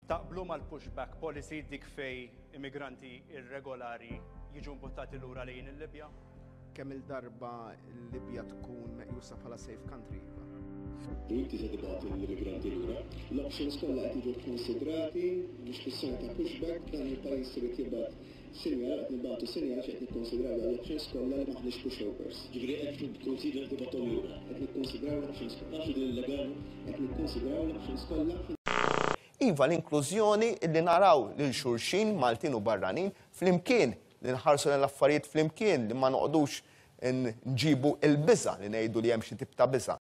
Taqblu mal-pushback policy, dik fejn immigranti irregolari jiġu mbuttati lura lejn il-Libja? Kemm il-darba l-Libja tkun meqjusa bħala safe country, iva. U inti se tibgħat l-immigranti lura? L-options kollha qed jiġu kkonsidrati, mhux kwistjoni ta' pushback, dan il-pajjiż irid jibgħat sinjal, qed nibagħtu sinjal għax qed nikkonsidraw dawn l-options kollha li m'aħniex pushovers. Ġifieri qed tikkonsidra li tibgħathom lura? Qed nikkonsidraw l-options kollha. Taf li din illegali? Qed nikkonsidraw l-options kollha. Iva l-inklużjoni li naraw lil xulxin, Maltin u barranin, flimkien, li nħarsu lejn l-affarijiet flimkien, li ma noqogħdux nġibu l-biża', li ngħidu li hemm xi tip ta' biża'.